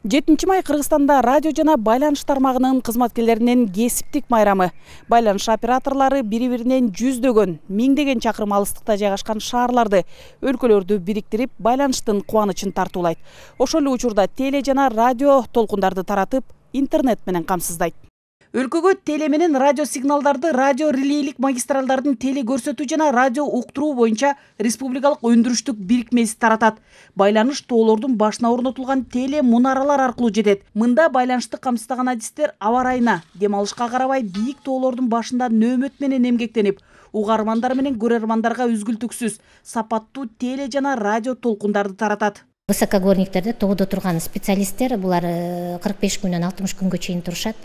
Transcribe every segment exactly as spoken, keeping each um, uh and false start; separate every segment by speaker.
Speaker 1: жетинчи май Кыргызстанда радио жана байланыш тармагынын кызматкерлеринин кесиптик майрамы. Байланыш операторлору бири-биринен жүздөгөн, миңдеген чакырым алыстыкта жайгашкан шаарларды, өлкөлөрдү бириктирип, байланыштын кубанычын тартуулайт. Ошол эле учурда теле жана радио толкундарды таратып, интернет менен камсыздайт. Өлкөгө теле менен радио сигналдарды радио релейлик магистралдардын теле көрсөтүү жана радио уктуруу боюнча республикалык өндүрүштүк бирикмеси таратат. Байланыш тоолордун башына орнотулган теле мунаралар аркылуу жетет. Мында байланышты камсыздаган адистер аба ырайына, дем алышка карабай бийик тоолордун башында нөөмөт менен эмгектенип, угармандар менен көрөрмандарга үзгүлтүксүз сапаттуу теле жана радио толкундарды таратат.
Speaker 2: Высокогорниктерде тоодо турган специалисттер булар кырк беш күндөн алтымыш күнгө чейин турушат.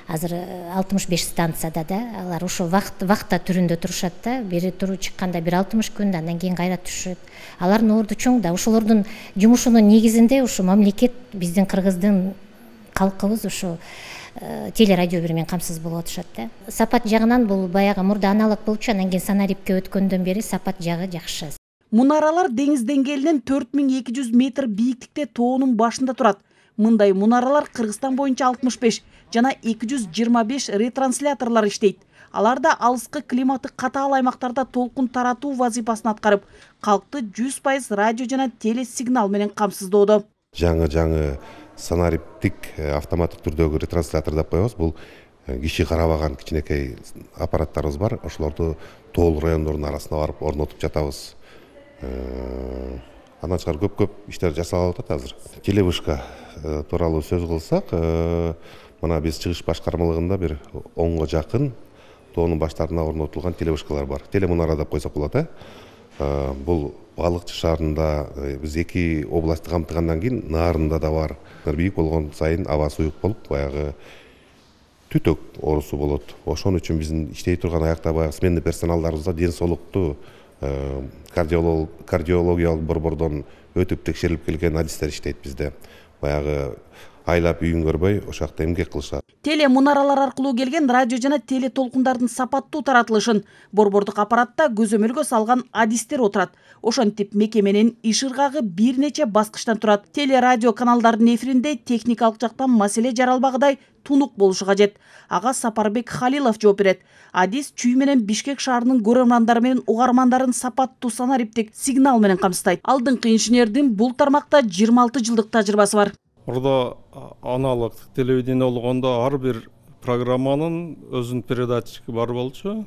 Speaker 2: Азыр алтымыш беш станцияда да алар ошо вакыт вакта түрүндө турушат да. Бери туруп чыкканда бир алтымыш күн, андан кийин кайра түшөт. Алардын орду чоң да. Ошолордун жумушунун негизинде ушу мамлекет, биздин кыргыздын калкыбыз ушу телерадио менен камсыз болуп атышат да. Сапат жагынан бул баягы мурда аналог болчу, андан кийин санарипке өткөндөн бери сапат жагы жакшы.
Speaker 1: Мунаралар деңиз деңгээлинен төрт миң эки жүз метр бийиктикте тоонун башында турат. Мындай мунаралар Кыргызстан боюнча алтымыш беш жана эки жүз жыйырма беш ретрансляторлор иштейт. Аларда алыскы климаты катаал аймактарда толкун таратуу вазифасын аткарып, калкты жүз пайыз радио жана теле сигнал менен камсыздоодо.
Speaker 3: Жаңы-жаңы санариптик автоматтык түрдөгү ретранслятор деп коебуз. Бул киши карабаган кичинекей аппараттарыбыз бар. Ошолорду тоол райондордун арасына барып орнотуп жатабыз. Андан тышкары көп-көп иштер жасалып атат азыр. Телевышка тууралуу сөз кылсак, мына биз чыгыш башкармалыгында бир онго жакын тоонун баштарына орнотулган телевышкалар бар. Телемунара деп койсок болот, э. Бул Балыкчы шаарында биз эки областты камтыгандан кийин наарында да бар. Бийик болгон сайын аба суюк болуп, баягы түтөк оорусу болот. Ошон үчүн биздин иштей турган аякта баягы сменный персоналдарыбызда ден соолукту кардиологиялык борбордон өтүп текшерилип келген адистер иштейт bizde. Баягы айлап үйүн көрбөй ошол жакта эмгек кылышат.
Speaker 1: Теле мунаралар аркылуу келген радио жана теле толкундардын сапаттуу таратылышын борбордук аппаратта көзөмөлгө салган адистер отурат. Ошентип мекеменин иш ыргагы бир нече баскычтан турат. Теле радио каналдардын эфиринде техникалык жактан маселе жаралбагыдай тунук болушу кажет. Ага Сапарбек Халилов жооп берет. Адис чүй менен Бишкек шаарынын көрөрмандары менен угармандарын сапаттуу санариптик сигнал менен камсыздайт. Алдыңкы инженердин бул тармакта жыйырма алты жылдык тажрыйбасы бар.
Speaker 4: Орда аналог телевидение болгондо ар бир программанын өзүнүн передатчиги бар болчу.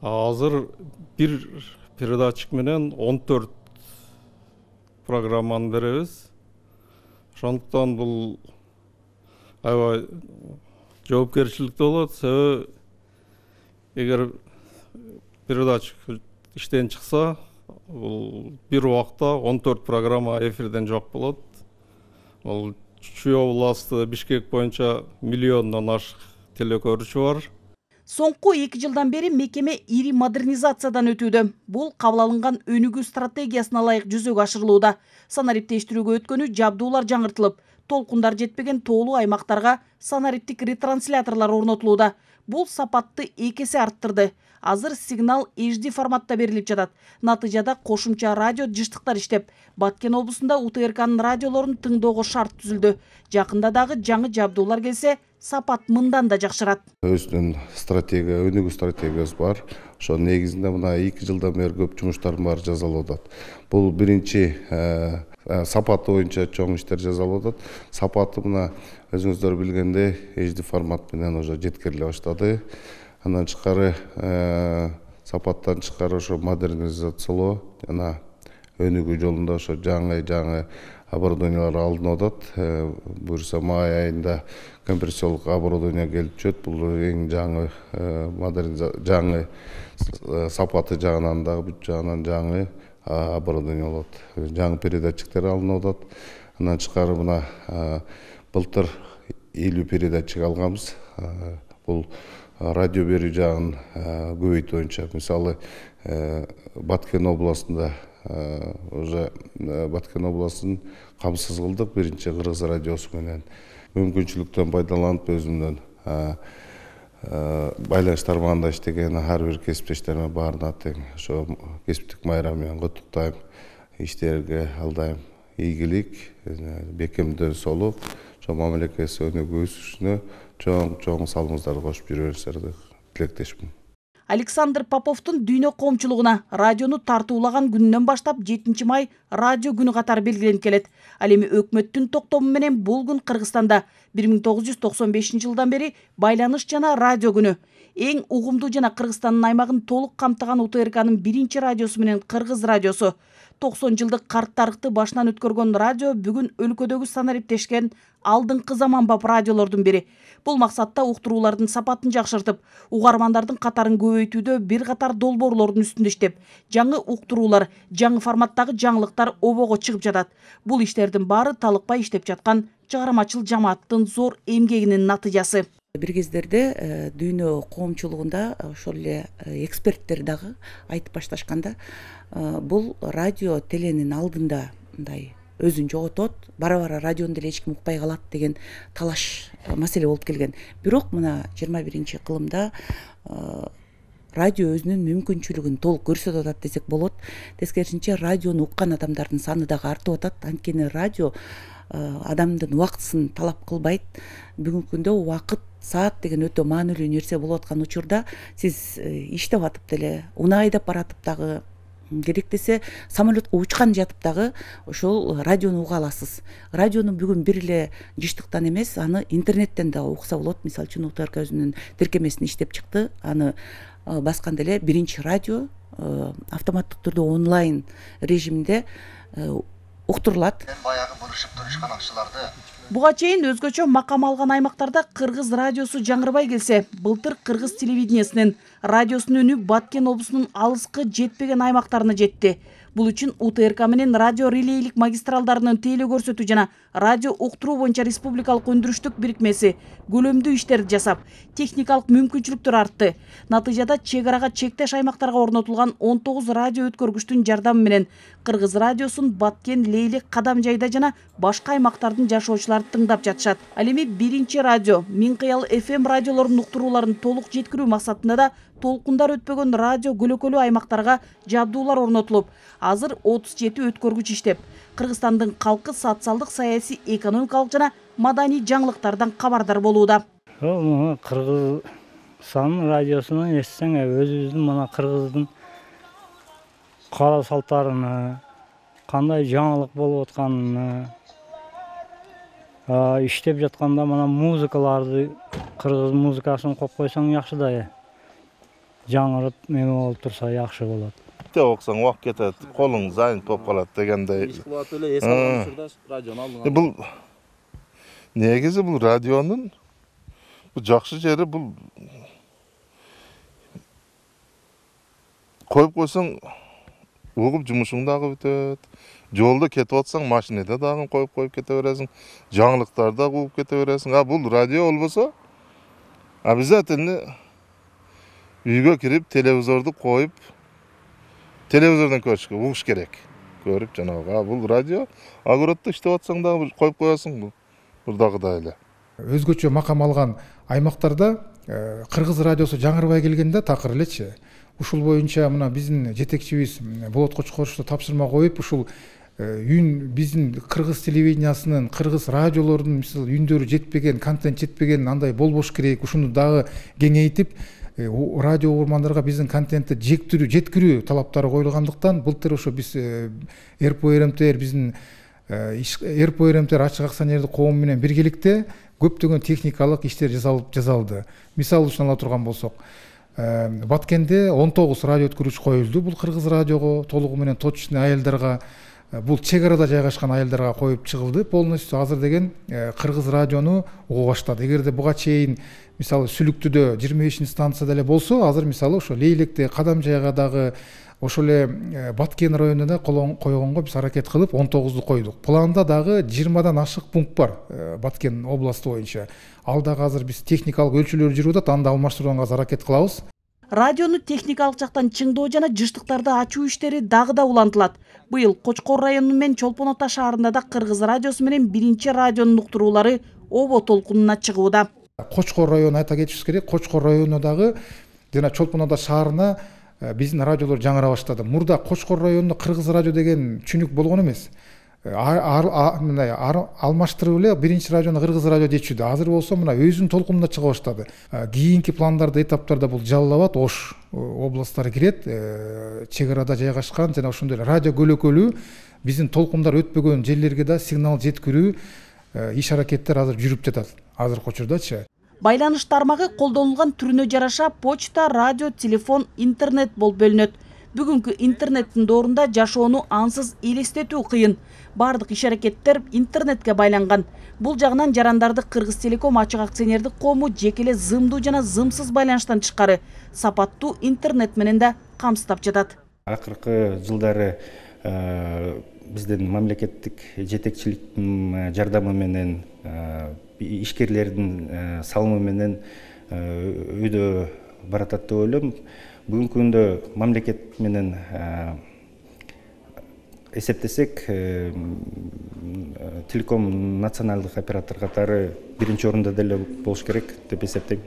Speaker 4: Азыр бир передатчик менен он төрт программаны беребиз. Ошондуктан бул аябай жоопкерчиликтүү болот. Себеби эгер передатчик иштен чыкса, бул бир убакта он төрт программа эфирден жок болот. Ол Чүй областы Бишкек боюнча миллиондон ашык телекөрүүчү бар.
Speaker 1: Соңку эки жылдан бери мекеме ири модернизациядан өтүүдө. Бул кабыл алынган өнүгүү стратегиясына ылайык жүзөгө ашырылууда. Санариптештирүүгө өткөнү жабдуулар жаңыртылып, толкундар жетпеген тоолуу аймактарга санариптик ретрансляторлор орнотулууда. Бул сапатты эки эсе арттырды. Азыр сигнал эйч ди форматта берилип жатат. Натыйжада кошумча радио жыштыктар иштеп, Баткен облусунда У Т Р К'нын радиолорун тыңдоого шарт түзүлдү. Жакында дагы жаңы жабдуулар келсе, сапат мындан да жакшырат.
Speaker 5: Өзүнүн стратегия, өнүгүү стратегиясы бар. Ошо негизинде мына эки жылдан бери көп жумуштардын баары жасалып атат. Бул биринчи сапаты боюнча чоң иштер жасалып атат. Сапаты мына өзүңүздөр билгендей эйч ди формат менен уже жеткириле баштады. Андан тышкары сапаттан тышкары ошо модернизациялоо жана өнүгүү жолунда ошо жаңы-жаңы оборудованиялар алынып атат. Буюрса май айында компрессиялык оборудование келип түшөт. Бул эң жаңы жаңы сапаты жагынан дагы бүт жагынан жаңы оборудование болот. Жаңы передатчиктер алынып атат. Андан тышкары мына былтыр элүү передатчик алганбыз. Бул радио берүү жагын көбөйтүү боюнча. Мисалы, Баткен областында уже Баткен областын камсыз кылдык биринчи Кыргыз радиосу менен. Мүмкүнчүлүктөн пайдаланып өзүмдөн байланыш тармагында иштеген ар бир кесиптештериме баарына тең ошо кесиптик майрам менен куттуктайм, иштерге алдайм. ийгилик, бекемдер солуп, чоң мамлекет өнүгүүсүнө чоң чоң салымыңыздарды кошуп жүрөсүңөрдү тилектешмин.
Speaker 1: Александр Поповдун дүйнө коомчулугуна радиону тартуулаган күнүнөн баштап жетинчи май радио күнү катары белгиленип келет. Ал эми өкмөттүн токтому менен бул күн Кыргызстанда бир миң тогуз жүз токсон бешинчи жылдан бери байланыш жана радио күнү. Эң угумдуу жана Кыргызстандын аймагын толук камтыган У Т Р Кнын биринчи радиосу менен Кыргыз радиосу. токсон жылдык карт тарыхты башынан өткөргөн радио бүгүн өлкөдөгү санариптешкен алдыңкы заманбап радиолордун бири. Бул максатта уктуруулардын сапатын жакшыртып, угармандардын катарын көбөйтүүдө бир катар долбоорлордун үстүндө иштеп, жаңы уктуруулар, жаңы форматтагы жаңылыктар обого чыгып жатат. Бул иштердин баары талыкпай иштеп жаткан чыгармачыл жамааттын зор эмгегинин натыйжасы.
Speaker 6: Бир кездерде дүйнө коомчулугунда ошол эле эксперттер дагы айтып башташканда, бул радио теленин алдында мындай өзүн жоготот, бара-бара радиону деле эч ким укпай калат деген талаш маселе болуп келген. Бирок мына жыйырма биринчи кылымда радио өзүнүн мүмкүнчүлүгүн толук көрсөтүп атат десек болот. Тескерисинче радиону уккан адамдардын саны дагы артып атат. Анткени радио адамдын убактысын талап кылбайт. Бүгүнкү күндө убакыт, саат деген өтө маанилүү нерсе болуп аткан учурда сиз иштеп атып деле, унаа айдап баратып дагы, керек десе самолетко учкан жатып дагы ошол радиону уга аласыз. Радиону бүгүн бир эле жыштыктан эмес, аны интернеттен да укса болот. Мисалы үчүн У Т Р К өзүнүн тиркемесин иштеп чыкты. Аны басканда эле биринчи радио автоматтык түрдө онлайн режимде уктурулат.
Speaker 7: Баягы бурушуп турушкан акчаларды
Speaker 1: Буга чейин өзгөчө макам алган аймактарда Кыргыз радиосу жаңырбай келсе, былтыр Кыргыз телевидениясынын радиосунун үнү Баткен облусунун алыскы жетпеген аймактарына жетти. Бул үчүн У Т Р К менен радио релейлик магистралдарынын тейлөө көрсөтүү жана радио уктуруу боюнча республикалык өндүрүштүк бирикмеси көлөмдүү иштерди жасап, техникалык мүмкүнчүлүктөр артты. Натыйжада чек арага чектеш аймактарга орнотулган он тогуз радио өткөргүчтүн жардамы менен Кыргыз радиосун Баткен, Лейлик, Кадамжайда жана башка аймактардын жашоочулары тыңдап жатышат. Ал эми биринчи радио Миңкыял Ф М радиолорунун уктурууларын толук жеткирүү максатында да толкундар өтпөгөн радио көлөкөлүү аймактарга жабдуулар орнотулуп, азыр отуз жети өткөргүч иштеп, Кыргызстандын калкы социалдык, саясий, экономикалык жана маданий жаңылыктардан кабардар болууда.
Speaker 8: Кыргызстан радиосунун эстесең, өзүбүздүн мына Кыргыздын кара салттарыны, кандай жаңылык болуп атканын, иштеп жатканда мына музыкаларды, кыргыз музыкасын коюп койсоң жакшы да. Жаңырып эме болуп турса жакшы болот.
Speaker 9: Теп оксоң убак кетет, колуң занят болуп калат дегендей.
Speaker 10: Иш кылат эле, эс алган учурда радиону алдыңа.
Speaker 9: Бул негизи бул радионун бул жакшы жери бул коюп койсоң угуп жумушуң дагы бүтөт. Жолдо кетип атсаң машинада дагы коюп коюп кете бересиң, жаңылыктарды да угуп кете бересиң. А бул радио болбосо обязательно үйгө кирип телевизорду коюп телевизордон көрүшкө угуш керек. Көрүп жанагы, а бул радио огороддо иштеп атсаң дагы коюп коесуң бул. Бурдагыдай эле.
Speaker 11: Өзгөчө макам алган аймактарда Кыргыз радиосу жаңырбай келгенде такыр элечи. Ушул боюнча мына биздин жетекчибиз Болот Кочкоровичу тапшырма коюп, ушул үн биздин Кыргыз телевидениясынын, Кыргыз радиолордун мисалы үндөрү жетпеген, контент жетпеген андай болбош керек. Ушуну дагы кеңейтип радио угармандарга биздин контентти жектирүү, жеткирүү талаптары коюлгандыктан былтыр ошо биз Р П Р М Т биздин Р П Р М Т ачык акционердик коом менен биргеликте көптөгөн техникалык иштер жасалып жасалды. Мисалы үчүн ала турган болсок, Баткенде он тогуз радио өткөрүүчү коюлду. Бул Кыргыз радиого толугу менен точечный айылдарга, бул чек арада жайгашкан айылдарга коюп чыгылды. Полностью азыр деген Кыргыз радиону уга баштады. Эгерде буга чейин мисалы Сүлүктүдө жыйырма бешинчи станцияда эле болсо, азыр мисалы ошо Лейликте, Кадамжайга дагы, ошол эле Баткен районуна койгонго биз аракет кылып он тогузду койдук. Планда дагы жыйырмадан ашык пункт бар Баткен областы боюнча. Ал дагы азыр биз техникалык өлчөлөр жүрүп атат, аны алмаштырууга аракет кылабыз.
Speaker 1: Радиону техникалык жактан чыңдоо жана жыштыктарды ачуу иштери дагы да улантылат. Быйыл Кочкор району менен Чолпон Ата шаарында да Кыргыз радиосу менен биринчи радионун уктуруулары обо толкунуна чыгууда.
Speaker 11: Кочкор району айта кетишибиз керек, Кочкор району дагы жана Чолпон Ата шаарына биздин радиолор жаңыра баштады. Мурда Кочкор районунда Кыргыз радио деген түшүнүк болгон эмес. мындай алмаштырып эле биринчи радиону кыргыз радио дечүдө. Азыр болсо мына өзүнүн толкунунда чыга баштады. Кийинки пландарда, этаптарда бул Жалал Абад, Ош областтары кирет. Чек арада жайгашкан жана ошондой эле радио көлөкөлүү биздин толкундар өтпөгөн жерлерге да сигнал жеткирүү иш аракеттер азыр жүрүп жатат азыркы учурдачы.
Speaker 1: Байланыш тармагы колдонулган түрүнө жараша почта, радио, телефон, интернет болуп бөлүнөт. Бүгүнкү интернеттин доорунда жашоону ансыз элестетүү кыйын. Бардык иш аракеттер интернетке байланган. Бул жагынан жарандарды Кыргыз Телеком ачык акционердик коому жекеле зымдуу жана зымсыз байланыштан тышкары сапаттуу интернет менен да камсыздап жатат.
Speaker 12: Акыркы жылдары биздин мамлекеттик жетекчиликтин жардамы менен, ишкерлердин салымы менен өйдө баратат деп ойлойм. Бүгүнкү күндө мамлекет менен эсептесек, Телеком националдык оператор катары биринчи орунда деле болуш керек деп эсептейм.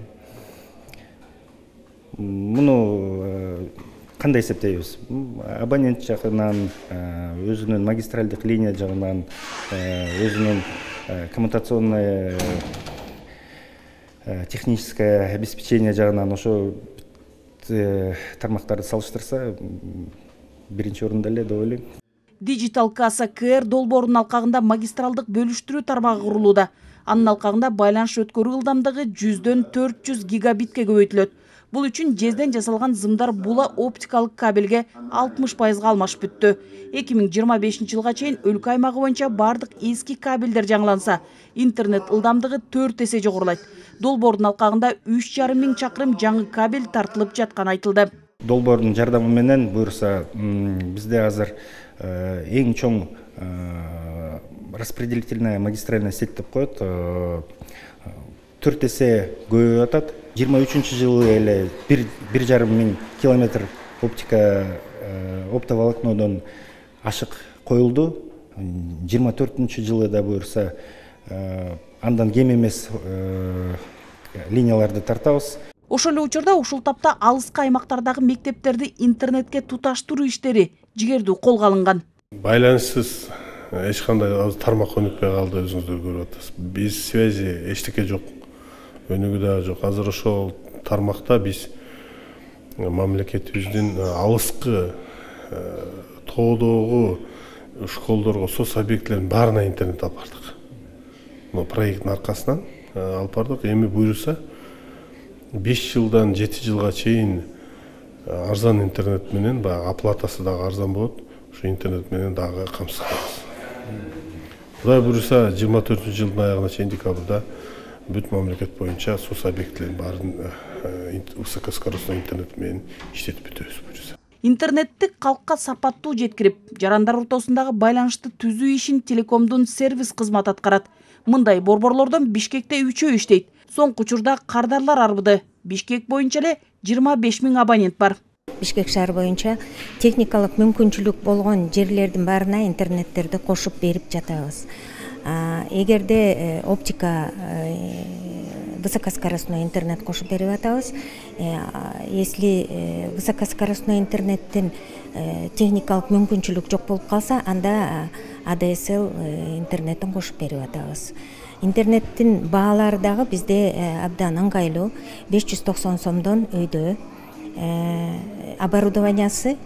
Speaker 12: Муну кандай эсептейбиз? Абонент жагынан, өзүнүн магистралдык линия жагынан, өзүнүн коммутационное техническое обеспечение жагынан ошо тармактарды салыштырса биринчи орунда эле деп ойлойм.
Speaker 1: Digital Kassa КР долбоорунун алкагында магистралдык бөлүштүрүү тармагы курулууда. Анын алкагында байланыш өткөрүү ылдамдыгы жүздөн төрт жүз гигабитке көбөйтүлөт. Бул үчүн жезден жасалган зымдар була оптикалык кабелге алтымыш пайызга алмашып бүттү. эки миң жыйырма бешинчи жылга чейин өлкө аймагы боюнча бардык эски кабелдер жаңыланса, интернет ылдамдыгы төрт эсе жогорулайт. Долбоордун алкагында үч жарым миң чакырым жаңы кабель тартылып жатканы айтылды.
Speaker 12: Долбоордун жардамы менен буюрса, бизде азыр эң чоң распределительная магистральная сеть деп коет. төрт эсе көбөйүп атат. жыйырма үчүнчү жылы эле бир жарым миң километр оптика оптоволокнодон ашык коюлду. жыйырма төртүнчү жылы да буюрса андан кем эмес линияларды тартабыз.
Speaker 1: Ошол эле учурда ушул тапта алыскы аймактардагы мектептерди интернетке туташтыруу иштери жигердүү колго алынган.
Speaker 13: Байланышсыз эч кандай тармак өнүкпөй калды, өзүңүздөр көрүп атасыз. Биз связи эчтеке жок, өнүгүү да жок. Азыр ошол тармакта биз мамлекетибиздин алыскы тоодогу школдорго, соц объектилердин баарына интернет алып бардык. Бул проекттин аркасынан алып бардык. Эми буюрса беш жылдан жети жылга чейин арзан интернет менен, баягы оплатасы дагы арзан болот. Ушу интернет менен дагы камсыздайбыз. Кудай буюрса жыйырма төртүнчү жылдын аягына чейин декабрда бүт мамлекет боюнча соц объектилердин баарын высокоскоростной интернет менен иштетип бүтөбүз буюрса.
Speaker 1: Интернетти калкка сапаттуу жеткирип, жарандар ортосундагы байланышты түзүү ишин Телекомдун сервис кызматы аткарат. Мындай борборлордон Бишкекте үчөө иштейт. Соңку учурда Кардарлар арбыды. Бишкек боюнча эле жыйырма беш миң абонент бар.
Speaker 14: Бишкек шаар боюнча техникалык мүмкүнчүлүк болгон жерлердин баарына интернеттерди кошуп берип жатабыз. Эгерде оптика высокоскоростной интернет кошуп берип атабыз. Если высокоскоростной интернеттин техникалык мүмкүнчүлүк жок болуп калса, анда А Д С Л интернеттин кошуп берип атабыз. Интернеттин баалары дагы бизде абдан ыңгайлуу. беш жүз токсон сомдон өйдө оборудованиясы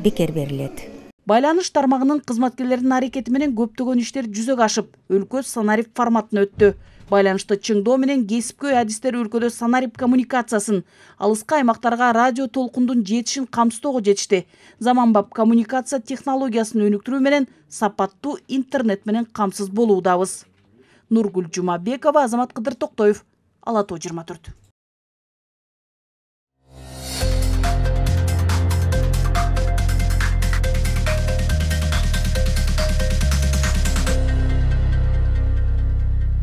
Speaker 14: бекер берилет.
Speaker 1: Байланыш тармагынын кызматкерлеринин аракети менен көптөгөн иштер жүзөгө ашып, өлкө санарип форматына өттү. Байланышты чыңдоо менен кесипкөй адистер өлкөдө санарип коммуникациясын, алыскы аймактарга радио толкундун жетишин камсыздоого жетишти. Заманбап коммуникация технологиясын өнүктүрүү менен сапаттуу интернет менен камсыз болуудабыз. Нургүл Жумабекова, Азамат Кыдыр Токтоев, Ала тоо жыйырма төрт.